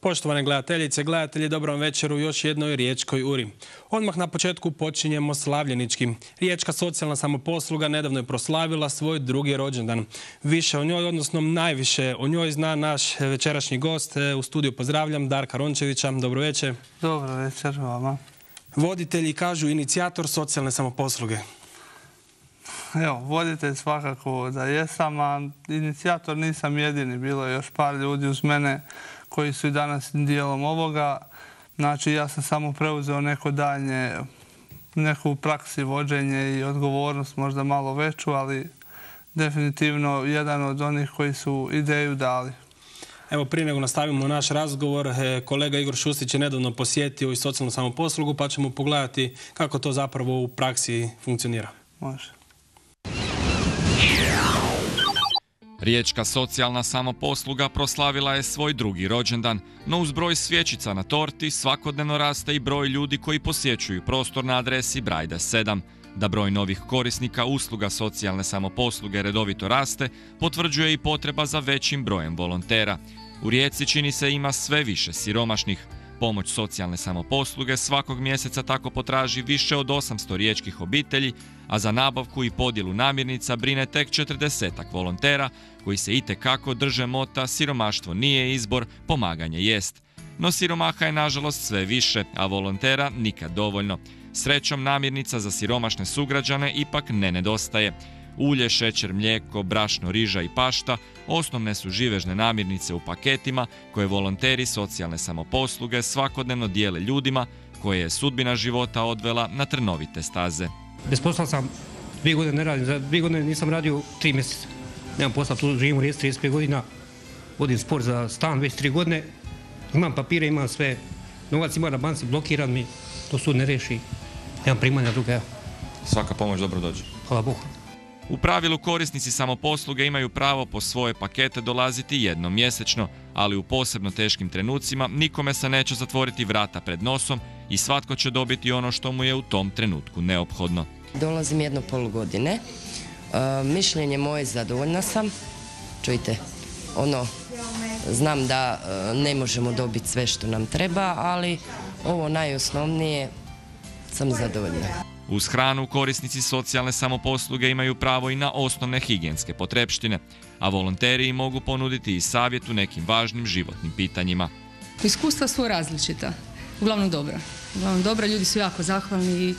Poštovane gledateljice, gledatelji, dobro vam večer u još jednoj Riječkoj uri. Odmah na početku počinjemo slavljenički. Riječka socijalna samoposluga nedavno je proslavila svoj drugi rođendan. Više o njoj, odnosno najviše o njoj zna naš večerašnji gost. U studiju pozdravljam Darka Rončevića. Dobro večer. Dobro večer vama. Voditelji kažu inicijator socijalne samoposluge. Evo, voditelj svakako da jesam, a inicijator nisam jedini. Bilo je još par ljudi uz mene koji su i danas dijelom ovoga. Znači, ja sam samo preuzeo neko daljnje, neku praksi vođenje i odgovornost možda malo veću, ali definitivno jedan od onih koji su ideju dali. Evo, prije nego nastavimo naš razgovor, kolega Igor Šustić je nedavno posjetio i socijalnu samoposlugu, pa ćemo pogledati kako to zapravo u praksi funkcionira. Može. Riječka socijalna samoposluga proslavila je svoj drugi rođendan, no uz broj svjećica na torti svakodnevno raste i broj ljudi koji posjećuju prostor na adresi Brajda 7. Da broj novih korisnika usluga socijalne samoposluge redovito raste, potvrđuje i potreba za većim brojem volontera. U Rijeci čini se ima sve više siromašnih. Pomoć socijalne samoposluge svakog mjeseca tako potraži više od 800 riječkih obitelji, a za nabavku i podjelu namirnica brine tek 40-ak volontera koji se itekako drže mota siromaštvo nije izbor, pomaganje jest. No siromaha je nažalost sve više, a volontera nikad dovoljno. Srećom namirnica za siromašne sugrađane ipak ne nedostaje. Ulje, šećer, mlijeko, brašno, riža i pašta osnovne su živežne namirnice u paketima koje volonteri socijalne samoposluge svakodnevno dijele ljudima koje je sudbina života odvela na trnovite staze. Bez posla sam 2 godine ne radim, za 2 godine nisam radio 3 mjeseca. Nemam posla, tu živim u Rijeci 35 godina, vodim sport za stan već 3 godine, imam papire, imam sve, novac ima na banci, blokiran mi, to sud ne reši, nemam primanja druga. Svaka pomoć dobro dođe. Hvala Bogu. U pravilu korisnici samoposluge imaju pravo po svoje pakete dolaziti jednom mjesečno, ali u posebno teškim trenucima nikome se neće zatvoriti vrata pred nosom i svatko će dobiti ono što mu je u tom trenutku neophodno. Dolazim 1,5 godine. Mišljenje moje, zadovoljna sam. Čujte, znam da ne možemo dobiti sve što nam treba, ali ovo najosnovnije sam zadovoljna. Uz hranu korisnici socijalne samoposluge imaju pravo i na osnovne higijenske potrepštine, a volonteri im mogu ponuditi i savjet u nekim važnim životnim pitanjima. Iskustva su različita, uglavnom dobra, ljudi su jako zahvalni i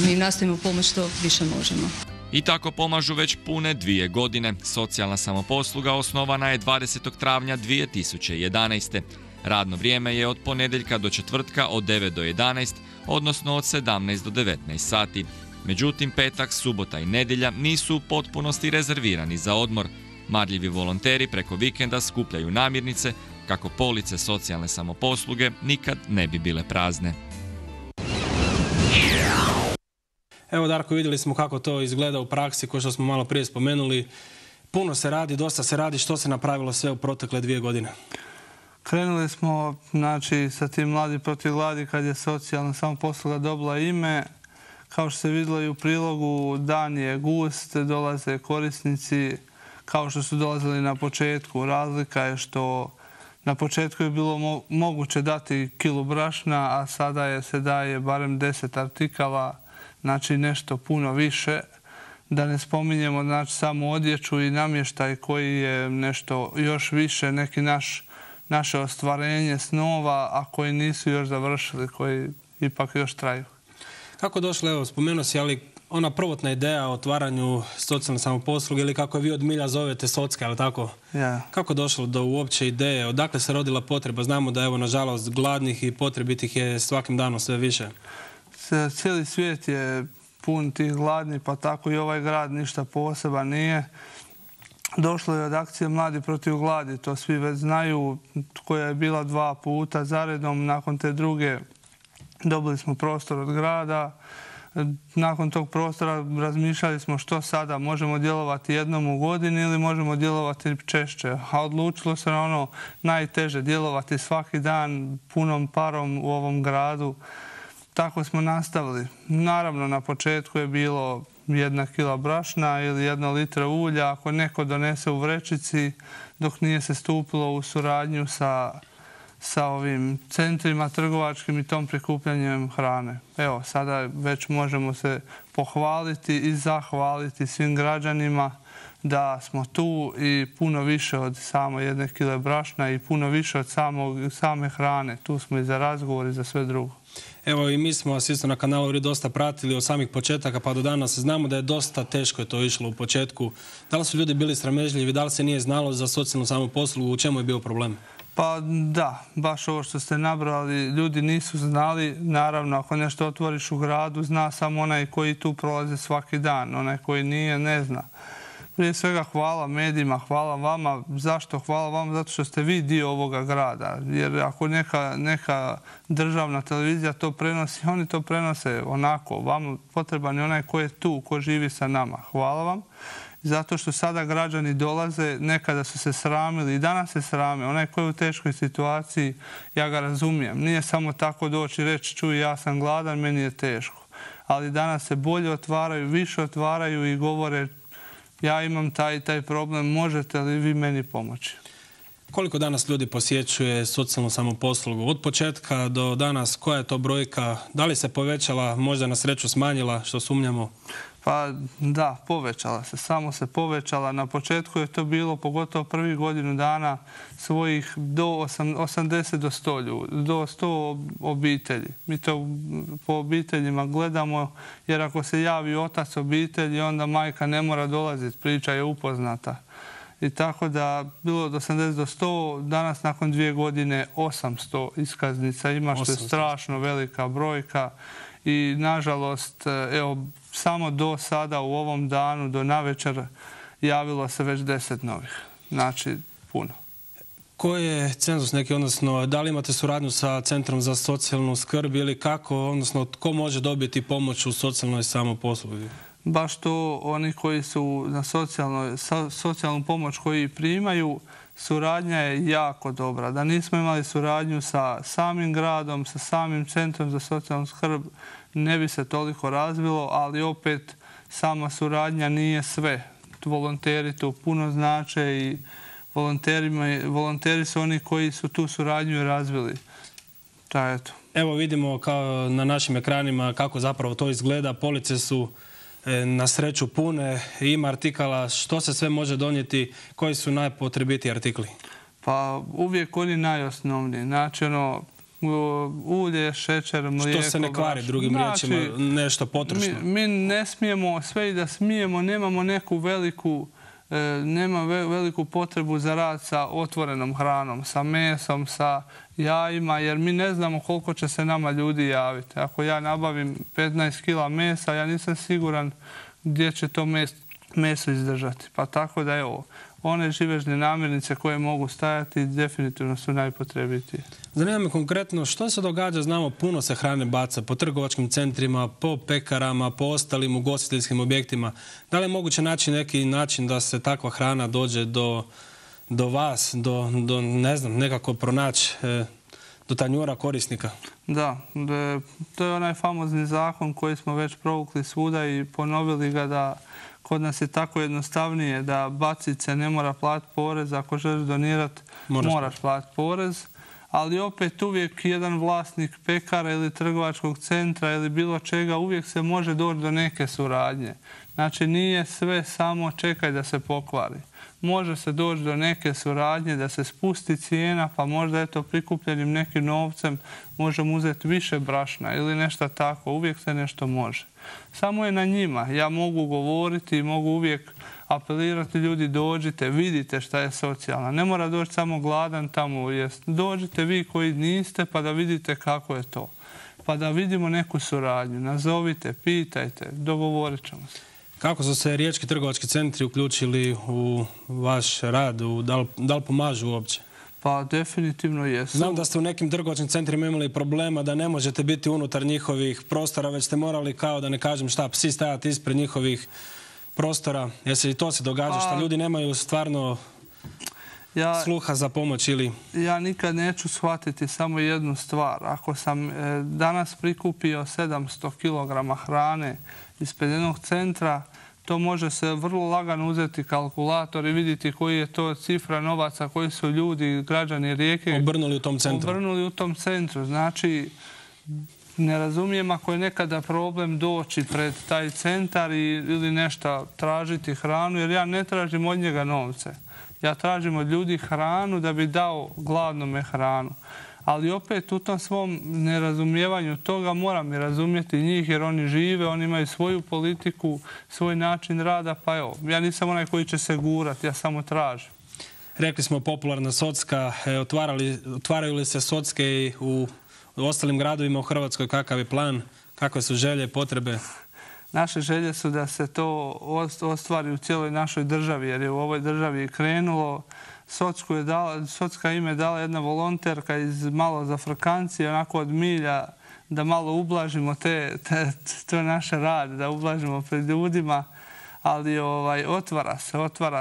mi im nastojimo pomoći što više možemo. I tako pomažu već pune 2 godine. Socijalna samoposluga osnovana je 20. travnja 2011. Radno vrijeme je od ponedjeljka do četvrtka od 9 do 11, odnosno od 17 do 19 sati. Međutim, petak, subota i nedjelja nisu u potpunosti rezervirani za odmor. Marljivi volonteri preko vikenda skupljaju namirnice kako police socijalne samoposluge nikad ne bi bile prazne. Evo, Darko, vidjeli smo kako to izgleda u praksi, kao što smo malo prije spomenuli. Puno se radi, dosta se radi. Što se napravilo sve u protekle 2 godine? Krenuli smo, znači, sa tim Mladi protiv gladi kad je socijalna samoposluga dobila ime. Kao što se vidjelo i u prilogu, dan je gust, dolaze korisnici kao što su dolazili na početku. Razlika je što na početku je bilo moguće dati kilu brašna, a sada se daje barem 10 artikala, znači nešto puno više. Da ne spominjemo, znači, samo odjeću i namještaj koji je nešto još više, neki naše ostvarenje snova, a koji nisu još završili, koji ipak još traju. Kako došlo, evo, spomenuo si, ali ona prvotna ideja o otvaranju socijalne samoposluge, ili kako je vi od milja zovete socke, ali tako? Ja. Kako došlo do uopće ideje? Odakle se rodila potreba? Znamo da, evo, nažalost, gladnih i potrebitih je svakim danom sve više. Cijeli svijet je pun tih gladnih, pa tako i ovaj grad ništa poseban nije. Došlo je od akcije Mladi protiv gladi, to svi već znaju, koja je bila 2 puta zaredom. Nakon te druge dobili smo prostor od grada. Nakon tog prostora razmišljali smo što sada, možemo djelovati jednom u godini ili možemo djelovati češće. A odlučilo se na ono najteže, djelovati svaki dan punom parom u ovom gradu. Tako smo nastavili. Naravno, na početku je bilo 1 kila brašna ili 1 litra ulja ako neko donese u vrećici, dok nije se stupilo u suradnju sa sa ovim centrima trgovačkim i tom prikupljanjem hrane. Evo, sada već možemo se pohvaliti i zahvaliti svim građanima da smo tu i puno više od samo 1 kile brašna i puno više od same hrane. Tu smo i za razgovor i za sve drugo. Evo i mi smo vas isto na kanalu URI dosta pratili od samih početaka pa do danas. Znamo da je dosta teško je to išlo u početku. Da li su ljudi bili sramežljivi, da li se nije znalo za socijalnu samoposlugu, u čemu je bio problem? Pa da, baš ovo što ste nabrali, ljudi nisu znali. Naravno, ako nešto otvoriš u gradu, zna samo onaj koji tu prolazi svaki dan. Onaj koji nije, ne zna. Prije svega hvala medijima, hvala vama. Zašto hvala vama? Zato što ste vi dio ovoga grada. Jer ako neka državna televizija to prenosi, oni to prenose onako. Vama potreban je onaj ko je tu, ko živi sa nama. Hvala vam. Zato što sada građani dolaze, nekada su se sramili i danas se srame. Onaj ko je u teškoj situaciji, ja ga razumijem. Nije samo tako doći i reći, čuj, ja sam gladan, meni je teško. Ali danas se bolje otvaraju, više otvaraju i govore, ja imam taj problem, možete li vi meni pomoći? Koliko danas ljudi posjećuje socijalnu samoposlugu? Od početka do danas, koja je to brojka? Da li se povećala, možda na sreću smanjila, što sumnjamo? Pa da, povećala se, samo se povećala. Na početku je to bilo, pogotovo prvih godinu dana, svojih do 80 do 100 ljudi, do 100 obitelji. Mi to po obiteljima gledamo, jer ako se javi otac obitelji, onda majka ne mora dolaziti, priča je upoznata. I tako da bilo od 80 do 100, danas nakon 2 godine 800 iskaznica ima, što je strašno velika brojka. I nažalost, evo, samo do sada u ovom danu, do navečer, javilo se već 10 novih. Znači, puno. Koji je cenzus neki, odnosno, da li imate suradnju sa Centrom za socijalnu skrb ili kako, odnosno, tko može dobiti pomoć u socijalnoj samoposluzi? Baš to, oni koji su na socijalnu pomoć koji primaju, suradnja je jako dobra. Da nismo imali suradnju sa samim gradom, sa samim Centrom za socijalnu skrb, ne bi se toliko razvilo, ali opet sama suradnja nije sve. Volonteri tu puno znače i volonteri su oni koji su tu suradnju razvili. Evo vidimo kao na našim ekranima kako zapravo to izgleda. Police su na sreću pune, ima artikala, što se sve može donijeti, koji su najpotrebitiji artikli? Pa uvijek oni najosnovniji. Znači ulje, šećer, mlijeko. Što se ne kvari, drugim riječima, nešto potrošno? Mi ne smijemo, sve i da smijemo, nemamo neku veliku potrebu za rad sa otvorenom hranom, sa mesom, sa jajima, jer mi ne znamo koliko će se nama ljudi javiti. Ako ja nabavim 15 kila mesa, ja nisam siguran gdje će to meso izdržati. Pa tako da evo, one živežne namirnice koje mogu stajati definitivno su najpotrebitije. Zanima me konkretno što se događa, znamo puno se hrane baca po trgovačkim centrima, po pekarama, po ostalim ugostiteljskim objektima. Da li je moguće naći neki način da se takva hrana dođe do vas, do ne znam, nekako pronaći do tanjura korisnika? Da, to je onaj famozni zakon koji smo već provukli svuda i ponovili ga da kod nas je tako jednostavnije da bacice ne mora platiti porez. Ako želiš donirati, moraš platiti porez. Ali opet uvijek jedan vlasnik pekara ili trgovačkog centra ili bilo čega, uvijek se može doći do neke suradnje. Znači nije sve samo čekaj da se pokvari. Može se doći do neke suradnje, da se spusti cijena, pa možda prikupljenim nekim novcem možemo uzeti više brašna ili nešto tako. Uvijek se nešto može. Samo je na njima. Ja mogu govoriti i mogu uvijek apelirati, ljudi dođite, vidite šta je socijalna. Ne mora doći samo gladan tamo. Dođite vi koji niste pa da vidite kako je to. Pa da vidimo neku suradnju. Nazovite, pitajte, dogovorit ćemo se. Kako su se riječki trgovački centri uključili u vaš rad? Da li pomažu uopće? Pa definitivno jesu. Znam da ste u nekim trgovačkim centrima imali problema da ne možete biti unutar njihovih prostora, već ste morali, kao da ne kažem šta, psi stajati ispred njihovih prostora. Jer se i to se događa, što ljudi nemaju stvarno sluha za pomoć ili... Ja nikad neću shvatiti samo jednu stvar. Ako sam danas prikupio 700 kg hrane ispred jednog centra, to može se vrlo lagano uzeti kalkulator i vidjeti koji je to cifra novaca, koji su ljudi, građani Rijeke obrnuli u tom centru. Obrnuli u tom centru. Znači, ne razumijem ako je nekada problem doći pred taj centar ili nešto tražiti hranu, jer ja ne tražim od njega novce. Ja tražim od ljudi hranu da bi dao gladnome hranu. Ali opet u tom svom nerazumijevanju toga moram i razumjeti njih, jer oni žive, oni imaju svoju politiku, svoj način rada, pa evo, ja nisam onaj koji će se gurati, ja samo tražim. Rekli smo popularna socka, otvaraju li se socke i u ostalim gradovima u Hrvatskoj, kakav je plan, kakve su želje, potrebe? Naše želje su da se to ostvari u cijeloj našoj državi, jer je u ovoj državi krenulo. Socka ime dala jedna volonterka iz malo zafrkancije, onako od milja, da malo ublažimo to naše rade, da ublažimo pred ljudima. Ali otvara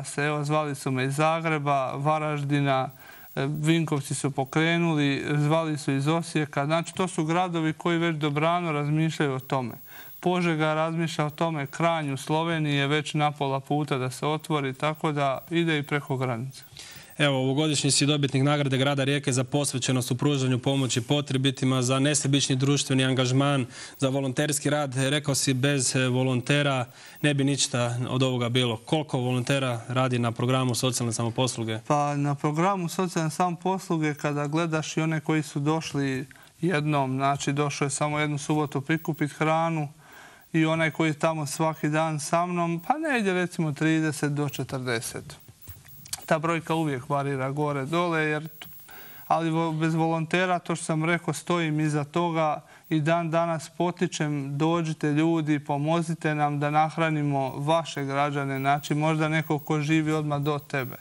se. Evo, zvali su me iz Zagreba, Varaždina, Vinkovci su pokrenuli, zvali su iz Osijeka. Znači, to su gradovi koji već dobrano razmišljaju o tome. Požega razmišlja o tome, Kranj u Sloveniji je već na pola puta da se otvori, tako da ide i preko granice. Evo, ovogodišnji si dobitnik nagrade grada Rijeke za posvećenost u pružanju pomoći potrebitima, za nesebični društveni angažman, za volonterski rad. Rekao si, bez volontera ne bi ništa od ovoga bilo. Koliko volontera radi na programu socijalne samoposluge? Pa na programu socijalne samoposluge, kada gledaš i one koji su došli jednom, znači došao je samo jednu subotu prikupiti hranu, i onaj koji je tamo svaki dan sa mnom, pa ne ide recimo 30 do 40. Ta brojka uvijek varira gore, dole, ali bez volontera, to što sam rekao, stojim iza toga i dan danas potičem, dođite ljudi, pomozite nam da nahranimo vaše građane, znači možda neko ko živi odmah do tebe.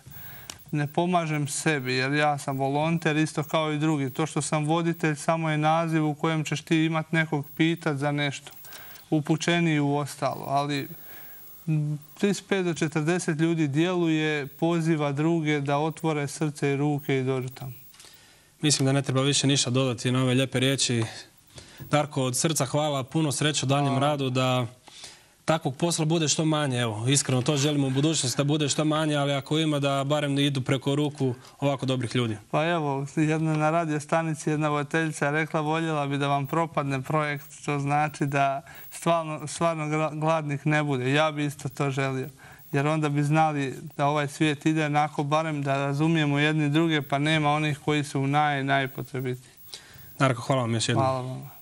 Ne pomažem sebi, jer ja sam volonter isto kao i drugi. To što sam voditelj samo je naziv u kojem ćeš ti imati nekog pitati za nešto. Upućeniji u ostalo, ali 35 do 40 ljudi djeluje, poziva druge da otvore srce i ruke i dođu tamo. Mislim da ne treba više ništa dodati na ove lijepe riječi. Darko, od srca hvala, puno sreće u daljem radu, da takvog posla bude što manje. Evo, iskreno to želimo u budućnosti, da bude što manje, ali ako ima, da barem idu preko ruku ovako dobrih ljudi. Pa evo, na radio stanici jedna voditeljica rekla, voljela bi da vam propadne projekt, što znači da stvarno gladnih ne bude. Ja bi isto to želio, jer onda bi znali da ovaj svijet ide onako, barem da razumijemo jedni druge, pa nema onih koji su najpotrebitiji. Darko, hvala vam još jednom. Hvala vam.